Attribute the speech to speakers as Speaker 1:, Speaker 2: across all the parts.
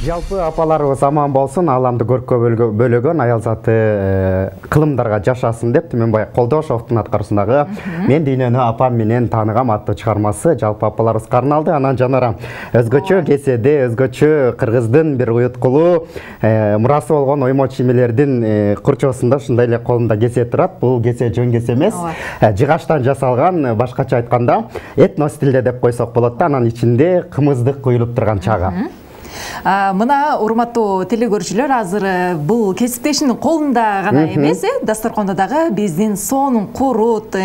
Speaker 1: Жалпы апаларыбыз аман болсун, ааламды көрккө бөлөгөн аял заты кылымдарга жашасын деп Түмөнбай Колдошовдун аткаруусундагы Мен дүйнөнү апам менен тааныгам аттуу чыгармасы жалпы апаларыбызга арналды. Анан жанара өзгөчө кеседе, өзгөчө кыргыздын бир уюткулуу мурасы болгон оймо чиймелердин курчоосунда ушундай эле колумда кесе турат. Бул кесе жөн кесе эмес, жыгачтан жасалган, башкача айтканда этно стилде деп койсок болот да. Анан ичинде кымыздык куюлуп турган чагы.
Speaker 2: Мына урматтуу телекөрүүчүлөр, азыр бул кесиптешинин колунда гана эмес, дасторкондо дагы биздин сонун курут,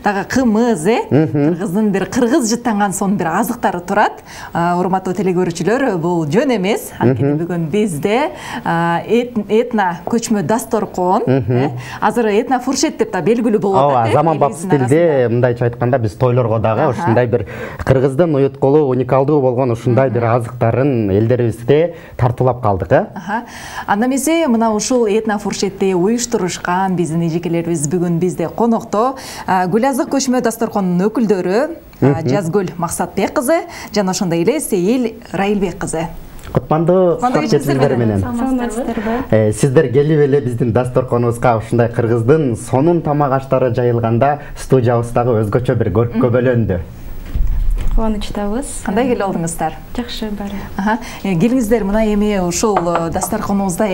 Speaker 2: дагы кымыз, кыргыздын бир кыргыз жыттанган сонун бир азыктары турат. Урматтуу телекөрүүчүлөр, бул жөн эмес. Анткени бүгүн бизде этно көчмө дасторкон, азыр этно фуршет деп да белгилүү болуп атат.
Speaker 1: Заманбап стилде, мындайча айтканда, биз тойлорго дагы ушундай бир кыргыздын уюткулуу, уникалдуу болгон ушундай бир азыктарын элдерибизге тартуулап калдык.
Speaker 2: Анда эмесе мына ушул этно фуршетти уюштурушкан биздин эжекелерибиз бүгүн бизде конокто. Гүлазык көчмө дасторконунун өкүлдөрү Жазгүл Максатбек кызы жана ошондой эле Сейил Райылбек кызы.
Speaker 1: Кутмандуу сиздер менен. Сиздер келип эле биздин дасторконубузга ушундай кыргыздын сонун тамак аштары жайылганда студиябыздагы өзгөчө бир көрккө бөлөндү.
Speaker 3: Кубанычтабыз.
Speaker 2: Кандай келип алдыңыздар?
Speaker 3: Жакшы баары.
Speaker 2: Келиңиздер, мына эми ушул дасторконубузда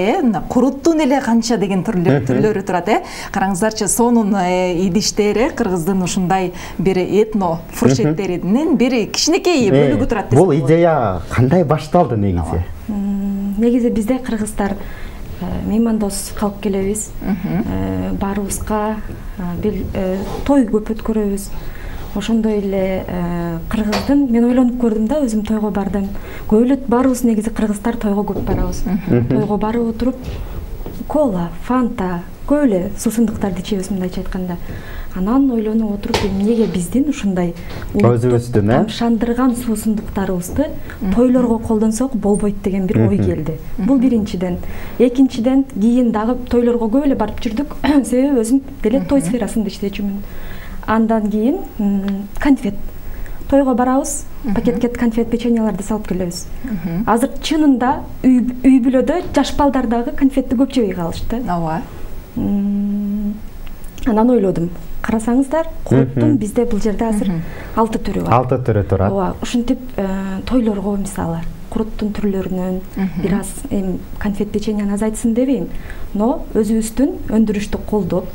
Speaker 2: куруттун эле канча деген түрлөрү турат. Караңыздарчы, сонун идиштер, кыргыздын ушундай бир этно фуршеттеринин бир кичинекей бөлүгү турат.
Speaker 1: Бул идея кандай башталды негизи?
Speaker 3: Негизи бизде кыргыздар меймандос калып келебиз. Баарыбызга той көп өткөрөбүз. Ошондой эле кыргыздын мен ойлонуп көрдүм да, өзүм тойго бардым. Көбөлөт баарыбыз негизи кыргыздар тойго көп барабыз. Тойго барып отуруп кола, фанта, көп эле суусундуктарды ичебиз, мындайча айтканда. Анан ойлонуп отуруп, эмнеге биздин ушундай
Speaker 1: өзүбүздүн
Speaker 3: тамшандырган суусундуктарыбызды тойлорго колдонсок болбойт деген бир ой келди. Бул биринчиден. Экинчиден, кийин дагы тойлорго көп эле барып жүрдүк, себеби өзүм деле той сферасында иштечүмүн. Андан кийин конфет. Тойго барабыз, пакетке конфет, печеньяларды салып келебиз. Азыр чынында үй бүлөдө жаш балдар дагы конфетти көп жебей калышты.
Speaker 2: Ооба.
Speaker 3: Анан ойлодум, карасаңыздар, куруттун бизде бул жерде азыр 6 түрү бар.
Speaker 1: 6 түрү турат.
Speaker 3: Ооба, ушинтип тойлорго мисалы куруттун түрлөрүнөн бир аз конфет, печеньяны азайтсын дебейм, но өзүбүздүн өндүрүштү колдоп,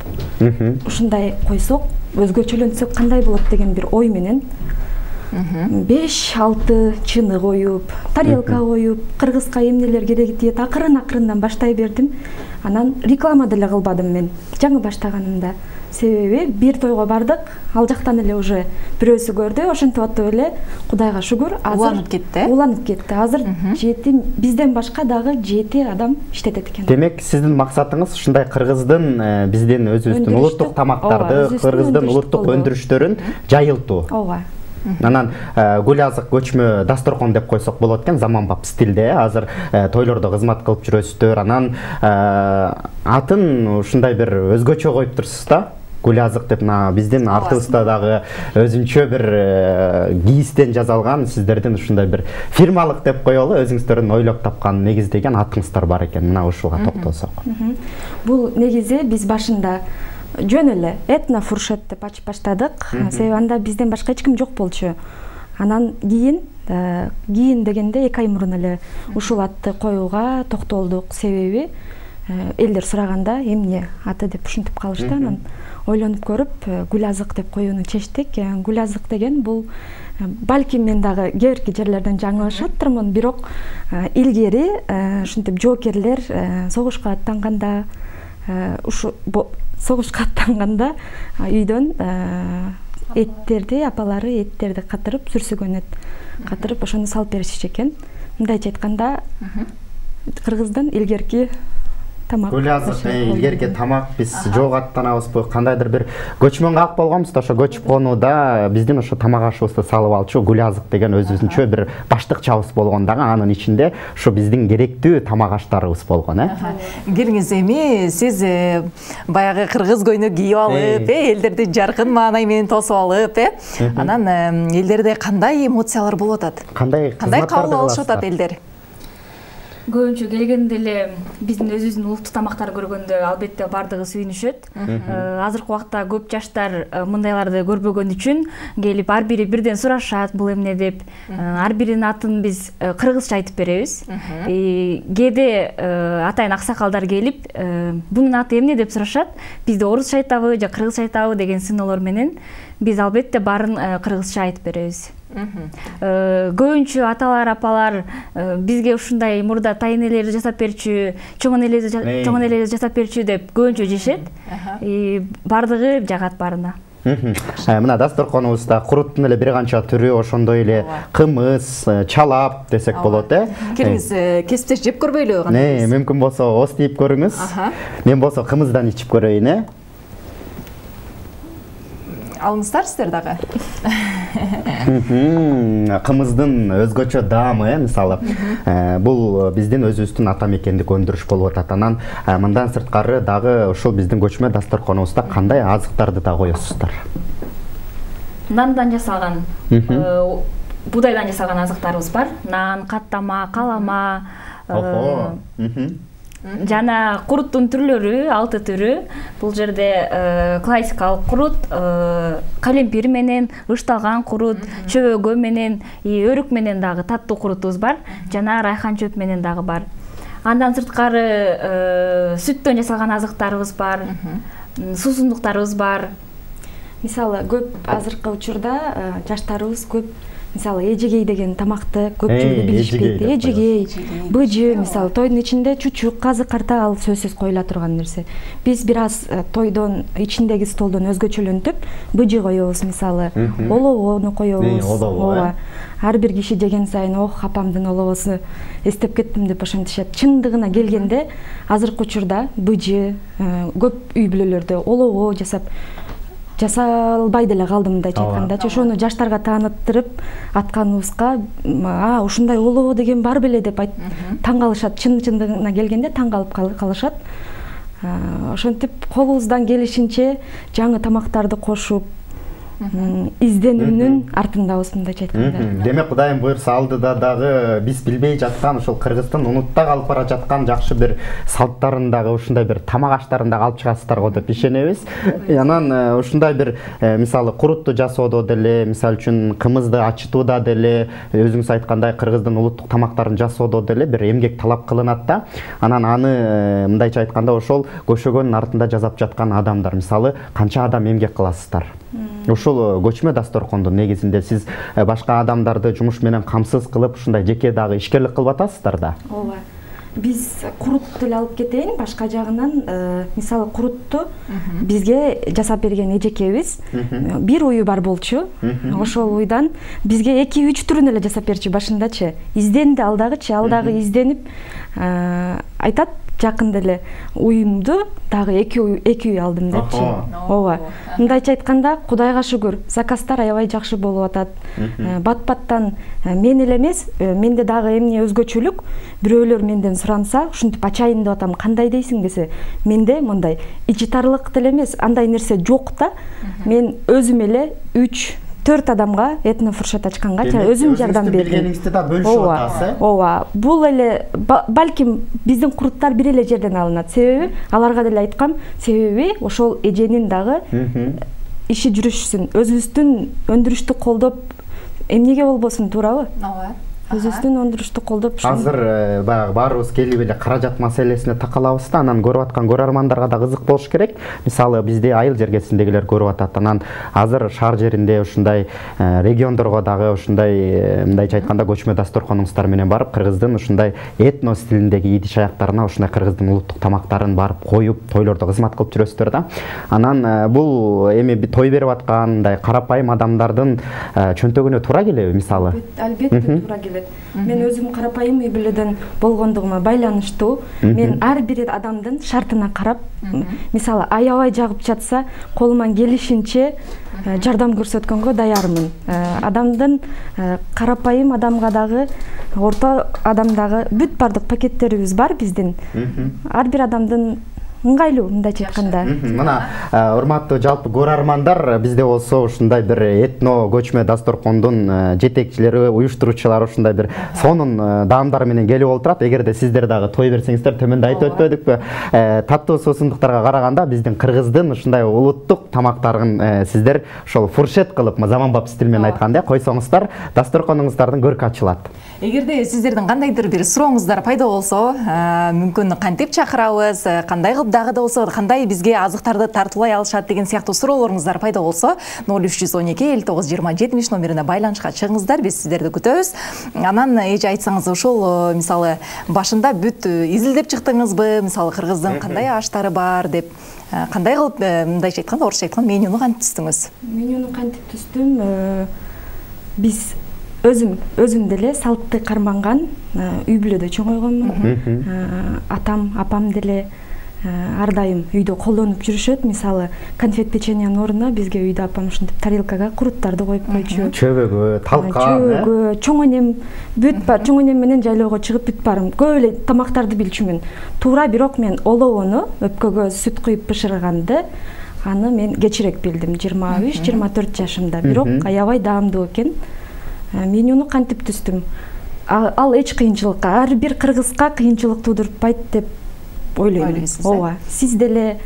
Speaker 3: ушундай койсок, өзгөчөлөнсөк кандай болот деген бир ой менен 5-6 чыны коюп, тарелка коюп, кыргызга эмнелер кереги тиет, акырын-акырындан баштай бердим. Анан реклама деле кылбадым мен жаңы баштаганымда. Себеби бир тойго бардык, ал жактан эле уже бирөөсү көрдү, ошентип атып эле Кудайга шүгүр, азыр уланып кетти. Азыр 7 бизден башка дагы 7 адам иштетет экен.
Speaker 1: Демек, сиздин максатыңыз ушундай кыргыздын биздин өзүбүздүн улуттук тамактарды, кыргыздын улуттук өндүрүштөрүн жайылтуу.
Speaker 3: Ооба.
Speaker 1: Анан гүлазык көчмө дасторкон деп койсок болот экен, заманбап стилде. Азыр тойлордо кызмат кылып жүрөсүздөр. Анан атын ушундай бир өзгөчө коюп турсуз да. Гүлазык деп биздин артыбызда дагы өзүнчө бир кийистен жасалган, сиздердин ушундай бир фирмалык деп коелу, өзүңүздөрдүн ойлоп тапкан, негиздеген атыңыздар бар экен. Мына ушуга токтолсок.
Speaker 3: Бул негизи биз башында жөн эле этно фуршет деп ачып баштадык. Себеби анда бизден башка эч ким жок болчу. Анан кийин дегенде 2 ай мурун эле ушул атты коюуга токтолдук. Себеби элдер сураганда эмне аты деп ушинтип калышты. Анан ойлонуп көрүп гүлазык деп коюуну чечтик. Гүлазык деген бул балким мен дагы кээ-бирки жерлерден жаңылышаттырмын, бирок илгери ушинтип жоокерлер согушка аттанганда үйдөн эттерди, апалары эттерди катырып, сүрсүгөн эт катырып, ошону салып беришчү экен. Мындайча айтканда, кыргыздын илгерки тамак.
Speaker 1: Гүлазык илгерки тамак биз жок аттанабызбы, кандайдыр бир көчмөнгө ак болгонбуз да, ошо көчүп конууда биздин ошо тамак ашыбызды салып алчу гүлазык деген өзүбүзүнчө бир баштыкчабыз болгон дагы, анын ичинде ошо биздин керектүү тамак аштарыбыз болгон.
Speaker 2: Келиңиз, эми сиз баягы кыргыз көйнөк кийип алып, элдерди жаркын маанай менен тосуп алып, анан элдерде кандай эмоциялар болуп атат? Кандай кабыл алышып атат элдер?
Speaker 4: Көбүнчө келгенде эле биздин өзүбүздүн улуттук тамактарды көргөндө албетте бардыгы сүйүнүшөт. Азыркы убакта көп жаштар мындайларды көрбөгөн үчүн келип ар бири бирден сурашат бул эмне деп. Ар биринин атын биз кыргызча айтып беребиз. Кээде атайын аксакалдар келип бунун аты эмне деп сурашат. Бизде орусча айтабы же кыргызча айтабы деген сыноолор менен биз албетте баарын кыргызча айтып беребиз. Көбүнчө аталар, апалар бизге ушундай мурда тайын элерди жасап берчү, чоң энелерди жасап берчү деп көбүнчө жешет. Бардыгы жагат баарына.
Speaker 1: Мына дасторконубузда куруттун эле бир канча түрү, ошондой эле кымыз, чалап десек болот,
Speaker 2: Келиңиз кесиптеш жеп көрбөйлү кандай?
Speaker 1: Мүмкүн болсо ос тийип көрүңүз. Мен болсо кымыздан ичип көрөйүн,
Speaker 2: Алыңыздар сиздер дагы.
Speaker 1: Кымыздын өзгөчө даамы, мисалы, бул биздин өзүбүздүн ата мекендик өндүрүш болуп атат. Анан мындан сырткары дагы ушул биздин көчмө дасторконубузда кандай азыктарды да коесуздар?
Speaker 4: Нандан жасалган, будайдан жасалган азыктарыбыз бар. Нан, каттама, калама, жана куруттун түрлөрү 6 түрү. Бул жерде классикалык курут, калемпир менен, ышталган курут, чөбөгө менен, өрүк менен дагы таттуу курутубуз бар. Жана райхан чөп менен дагы бар. Андан сырткары сүттөн жасалган азыктарыбыз бар, суусундуктарыбыз бар.
Speaker 3: Мисалы көп азыркы учурда жаштарыбыз көп мисалы эжегей деген тамакты көпчүлүгү билишпейт. Эжегей, быжы, мисалы тойдун ичинде чучук, казы карта ал сөзсүз коюла турган нерсе. Биз бир аз тойдон ичиндеги столдон өзгөчөлөнтүп, быжы коебуз, мисалы, оловону коебуз. Ооба. Ар бир киши жеген сайын ох, апамдын оловосу эстеп кеттим деп ошентишет. Чындыгына келгенде азыркы учурда быжы көп үй бүлөлөрдө олово жасалбай деле калды, мындайча айткандачы. Ошону жаштарга тааныттырып атканыбызга, ушундай олоо деген бар беле деп таң калышат. Чындыгына келгенде таң калып калышат. Ошентип колубуздан келишинче жаңы тамактарды кошуп, изденүүнүн артындабыз, мындайча айтканда.
Speaker 1: Демек Кудайым буйрса алдыда дагы биз билбей жаткан, ушул Кыргыздын унутта калып бара жаткан жакшы бир салттарын дагы, ушундай бир тамак аштарын дагы алып чыгасыздар го деп ишенебиз. Анан ушундай бир мисалы курутту жасоодо деле, мисалы үчүн кымызды ачытууда деле, өзүңүз айткандай Кыргыздын улуттук тамактарын жасоодо деле бир эмгек талап кылынат да. Анан аны мындайча айтканда ошол көшөгөнүн артында жасап жаткан адамдар, мисалы канча адам эмгек кыласыздар? Ушул көчмө дасторкондо негизинде сиз башка адамдарды жумуш менен камсыз кылып, ушундай жеке дагы ишкерлик кылып атасыздар да?
Speaker 3: Ооба. Биз курутту эле алып кетейин, башка жагынан, мисалы курутту бизге жасап берген эжекебиз бир уyu бар болчу. Ошол уйдан бизге 2-3 түрүн эле жасап берчү башындачы. Изденди ал дагы изденип айтат, жакында эле уюмду дагы 2 үй алдым депчи. Ооба. Мындайча айтканда, Кудайга шүгүр, заказдар аябай жакшы болуп атат. Бат-баттан мен эле эмес, менде дагы эмне өзгөчөлүк, бирөөлөр менден суранса, ушинтип ачайын деп атам, кандай дейсиң десе, менде мындай ичитарлык деле эмес, андай нерсе жок да. Мен өзүм эле 3-4 адамга этнофуршет ачканга өзүм жардам бердим.
Speaker 1: Билгениңизди да бөлүшүп атасыз.
Speaker 3: Ооба. Бул эле балким биздин куруттар бир эле жерден алынат. Себеби аларга деле айткам, себеби ошол эженин дагы иши жүрүшсүн, өзүбүздүн өндүрүштү колдоп эмнеге болбосун, туурабы?
Speaker 2: Ооба.
Speaker 3: Өзүбүздүн өндүрүштү колдоп.
Speaker 1: Азыр баягы баарыбыз келип эле каражат маселесине такалабыз да, анан көрүп аткан көрөрмандарга да кызык болуш керек. Мисалы бизди айыл жергесиндегилер көрүп атат. Анан азыр шаар жеринде ушундай региондорго дагы ушундай мындайча айтканда көчмө дасторконуңуздар менен барып, кыргыздын ушундай этно стилиндеги идиш аяктарына ушундай кыргыздын улуттук тамактарын барып коюп, тойлордо кызмат кылып жүрөсүздөр да. Анан бул эми той берип аткан мындай карапайым адамдардын чөнтөгүнө туура келеби, мисалы?
Speaker 3: Албетте туура келет. Мен өзүм карапайым үй бүлөдөн болгондугума байланыштуу, мен ар бир адамдын шартына карап, мисалы аябай жагып жатса, колуман келишинче жардам көрсөткөнгө даярмын. Адамдын карапайым адамга дагы, орто адамдагы бүт бардык пакеттерибиз бар биздин. Ар бир адамдын ыңгайлуу мындайча айтканда.
Speaker 1: Мына урматтуу жалпы көрөрмандар, бизде болсо ушундай бир этно көчмө дасторкондун жетекчилери, уюштуруучулары ушундай бир сонун даамдар менен келип отурат. Эгерде сиздер дагы той берсеңиздер, төмөндө айтып өтпөдүкпү? Таттуу суусундуктарга караганда биздин кыргыздын ушундай улуттук тамактарын сиздер ошол фуршет кылып, заманбап стиль менен айтканда койсоңуздар, дасторконуңуздардын көркү ачылат.
Speaker 2: Эгерде сиздердин кандайдыр бир сурооңуздар пайда болсо, мүмкүн кантип чакырабыз, кандай кылып дагы да болсо кандай бизге азыктарды тартуулай алышат деген сыяктуу суроолоруңуздар пайда болсо 0312 59 20 70 номерине байланышка чыгыңыздар, биз сиздерди күтөбүз. Анан эже айтсаңыз, ушул мисалы башында бүт изилдеп чыктыңызбы, мисалы кыргыздын кандай аштары бар деп, кандай кылып мындайча айтканда, орусча айтканда менюну кантип түздүңүз?
Speaker 3: Менюну кантип түздүм? Биз өзүм деле салтты карманган, үй бүлөдө чоңойгонмун. Атам, апам деле ар дайым үйдө колдонуп жүрүшөт. Мисалы, конфет печеньянын ордуна бизге үйдө апам ушинтип тарелкага куруттарды коюп койчу.
Speaker 1: Чөбөгө, талка,
Speaker 3: чөбөгө, чоң энем бүт бар, чоң энем менен жайлоого чыгып бүт барым. Көп эле тамактарды билчүмүн. Туура, бирок мен оловону өпкөгө сүт куюп бышырганды аны мен кечирээк билдим, 23-24 жашымда. Бирок аябай даамдуу экен. Менюну кантип түздүм? Ал эч кыйынчылыкка, ар бир кыргызга кыйынчылык туудурбайт деп ойлойм. Ооба, сиз деле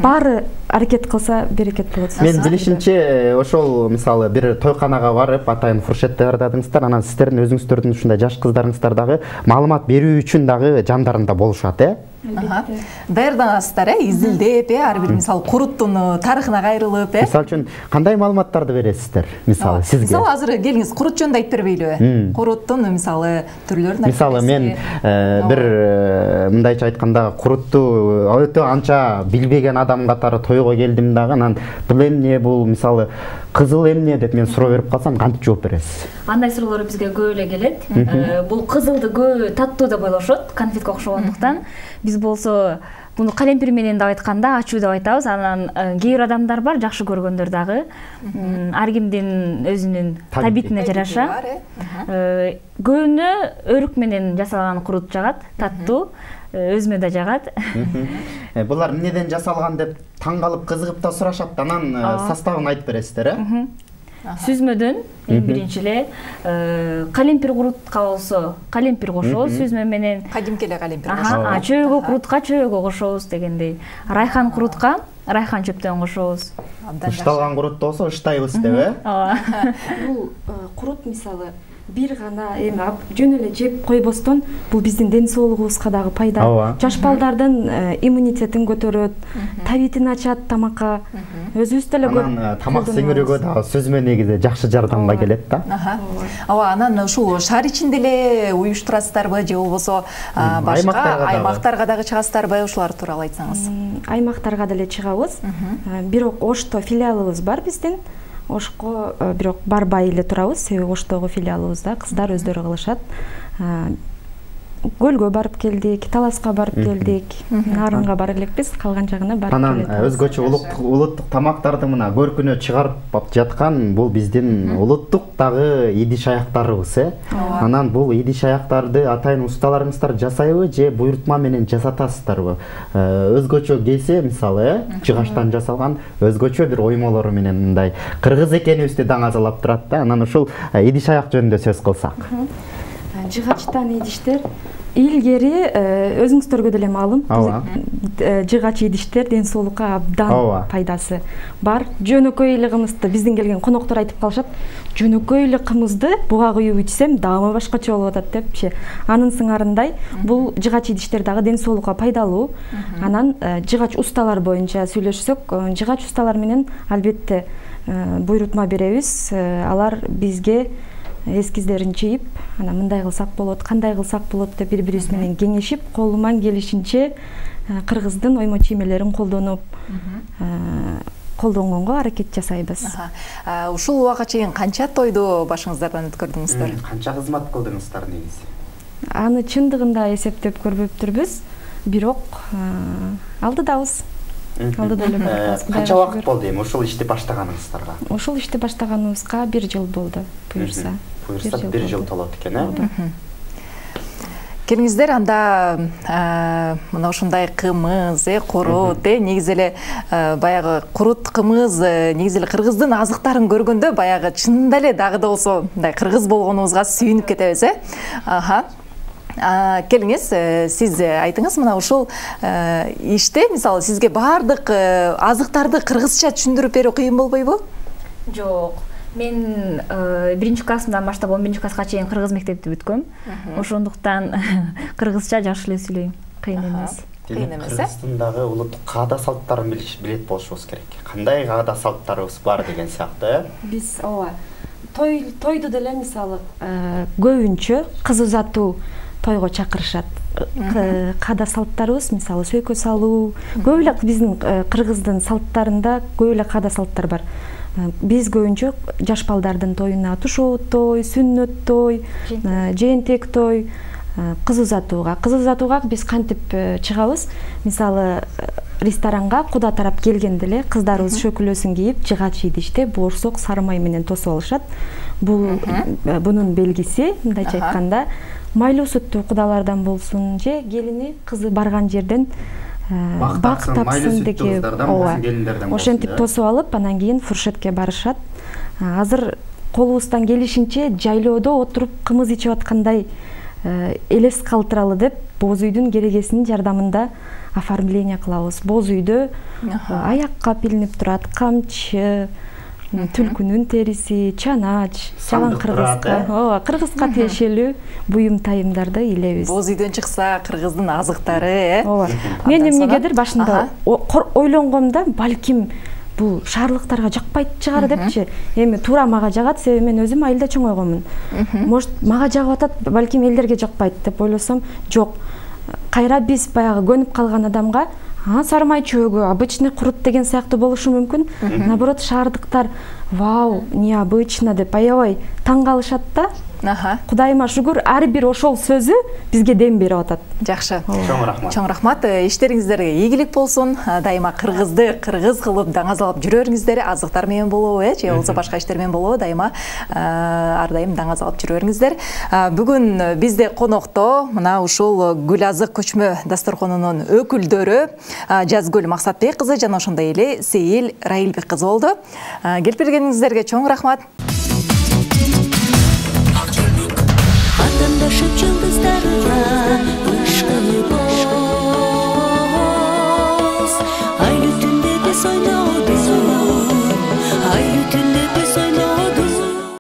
Speaker 3: баары аракет кылса берекет болот.
Speaker 1: Мен билишимче ошол мисалы бир тойканага барып атайын фуршет даярдадыңыздар, анан сиздердин өзүңүздөрдүн ушундай жаш кыздарыңыздар дагы маалымат берүү үчүн дагы жандарында болушат,
Speaker 2: Даярданасыздар, изилдеп, ар бир мисалы куруттун тарыхына кайрылып,
Speaker 1: Мисалы үчүн кандай маалыматтарды бересиздер? Мисалы сизге.
Speaker 2: Мисалы азыр келиңиз, курут жөнүндө айтып бербейлиби? Куруттун мисалы түрлөрүн айтып.
Speaker 1: Мисалы мен бир мындайча айтканда курутту өтө анча билбеген адам катары тойго келдим дагы, анан бул эмне, бул мисалы кызыл эмне деп мен суроо берип калсам, кантип жооп бересиз?
Speaker 4: Андай суроолор бизге көп эле келет. Бул кызылды көп таттуу деп ойлошот, конфетке окшогондуктан. Биз болсо муну калемпир менен деп айтканда ачуу деп айтабыз. Анан кээ бир адамдар бар, жакшы көргөндөр дагы. Ар кимдин өзүнүн табитине жараша. Көбүнө өрүк менен жасалган курут жагат, таттуу. Өзүмө да жагат.
Speaker 1: Булар эмнеден жасалган деп таң калып кызыгып да сурашат, анан составын айтып бересиздер,
Speaker 4: Сүзмөдөн эң биринчи эле калемпир курутка болсо калемпир кошобуз, сүзмө менен.
Speaker 2: Кадимки эле калемпир кошобуз.
Speaker 4: Чөөгө курутка чөөгө кошобуз дегендей. Райхан курутка райхан чөптөн кошобуз.
Speaker 1: Ышталган курут болсо ыштайбыз деп,
Speaker 3: Бул курут мисалы бир гана эми жөн эле жеп койбостон бул биздин ден соолугубузга дагы пайда. Жаш балдардын иммунитетин көтөрөт, табитин ачат тамакка. Өзүбүз деле көп.
Speaker 1: Анан тамак сиңирүүгө дагы сүзмө негизи жакшы жардамга келет да.
Speaker 2: Ооба, анан ушул шаар ичинде эле уюштурасыздарбы же болбосо башка аймактарга дагы чыгасыздарбы? Ушулар тууралуу айтсаңыз.
Speaker 3: Аймактарга деле чыгабыз. Бирок Ошто филиалыбыз бар биздин. Ошко бирок барбай эле турабыз, себеби Оштогу филиалыбызда кыздар өздөрү кылышат. Көлгө барып келдик, Таласка барып келдик, Нарынга бара элекпиз, калган жагына барып келдик.
Speaker 1: Анан өзгөчө улуттук тамактарды мына көркүнө чыгарып жаткан бул биздин улуттук дагы идиш аяктарыбыз, Анан бул идиш аяктарды атайын усталарыңыздар жасайбы же буйрутма менен жасатасыздарбы? Өзгөчө келсе, мисалы, жыгачтан жасалган өзгөчө бир оймолору менен мындай кыргыз экенибизди даңазалап турат да. Анан ушул идиш аяк жөнүндө сөз кылсак.
Speaker 3: Жыгачтан идиштер илгери өзүңүздөргө деле маалым, жыгач идиштер ден соолукка абдан пайдасы бар. Жөнөкөй эле кымызды биздин келген коноктор айтып калышат, жөнөкөй эле кымызды буга куюп ичсем даамы башкача болуп атат депчи. Анын сыңарындай бул жыгач идиштер дагы ден соолукка пайдалуу. Анан жыгач усталар боюнча сүйлөшсөк, жыгач усталар менен албетте буйрутма беребиз. Алар бизге эскиздерин чийип, анан мындай кылсак болот, кандай кылсак болот деп бири-бирибиз менен кеңешип, колунан келишинче кыргыздын оймо чиймелерин колдонгонго аракет жасайбыз.
Speaker 2: Ушул убакка чейин канча тойду башыңыздардан өткөрдүңүздөр?
Speaker 1: Канча кызмат кылдыңыздар негизи?
Speaker 3: Аны чындыгында эсептеп көрбөптүрбүз, бирок алдыдабыз.
Speaker 1: Канча убакыт болду эми ушул ишти баштаганыңыздарга?
Speaker 3: Ушул ишти баштаганыбызга 1 жыл болду, буюрса.
Speaker 1: Буюрса 1 жыл толот экен,
Speaker 2: Келиңиздер, анда мына ушундай кымыз, курут, негизи эле баягы курут, кымыз, негизи эле кыргыздын азыктарын көргөндө баягы чынында эле дагы да болсо мындай кыргыз болгонубузга сүйүнүп кетебиз, Келиңиз, сиз айтыңыз, мына ушул иште мисалы сизге баардык азыктарды кыргызча түшүндүрүп берүү кыйын болбойбу?
Speaker 4: Жок. Мен 1-классымдан баштап 11-класска чейин кыргыз мектепти бүткөм. Ошондуктан кыргызча жакшы эле сүйлөйм. Кыйын эмес.
Speaker 2: Кыйын эмес,
Speaker 1: Кыргызстандагы улуттук каада салттарын билет болушубуз керек. Кандай каада салттарыбыз бар деген сыяктуу,
Speaker 3: Биз тойду деле мисалы көбүнчө кыз узатуу тойго чакырышат. Каада салттарыбыз мисалы сөйкө салуу, көп эле биздин кыргыздын салттарында көп эле каада салттар бар. Биз көбүнчө жаш балдардын тоюна тушоот той, сүннөт той, жээнтек той, кыз узатууга биз кантип чыгабыз? Мисалы ресторанга куда тарап келгенде эле кыздарыбыз шөкүлөсүн кийип, жыгач идиште боорсок, сары май менен тосуп алышат. Бунун белгиси, мындайча айтканда, майлуу сүттүү кудалардан болсун же келини кызы барган жерден бак тапсын деген, ошентип тосуп алып, анан кийин фуршетке барышат. Азыр колубуздан келишинче жайлоодо отуруп кымыз ичип аткандай элес калтыралы деп боз үйдүн керегесинин жардамында оформление кылабыз. Боз үйдө аякка пилинип турат камчы, түлкүнүн териси, чанач, жалаң кыргызга тиешелүү буюм тайымдарды илебиз.
Speaker 2: Боз үйдөн чыкса кыргыздын азыктары,
Speaker 3: Мен эмнегедир башында ойлонгомда, балким бул шаарлыктарга жакпайт чыгар депчи. Эми туура мага жагат, себеби мен өзүм айылда чоңойгонмун. Может, мага жагып атат, балким элдерге жакпайт деп ойлосом, жок. Кайра биз баягы көнүп калган адамга сары май чөөгү, обычный курут деген сыяктуу болушу мүмкүн. Наоборот, шаардыктар вау, необычно деп аябай таң калышат да. Кудайыма шүгүр, ар бир ошол сөзү бизге дем берип атат.
Speaker 2: Жакшы.
Speaker 1: Чоң
Speaker 2: рахмат. Иштериңиздерге ийгилик болсун. Дайыма кыргызды кыргыз кылып даңазалап жүрөрүңүздөр, азыктар менен болобу, же болбосо башка иштер менен болобу, дайыма ар дайым даңазалап жүрөрүңүздөр. Бүгүн бизде конокто мына ушул Гүл Азык көчмө дасторконунун өкүлдөрү Жазгүл Максатбек кызы жана ошондой эле Сейил Раилбек кызы болду. Келип бергениңиздерге чоң рахмат.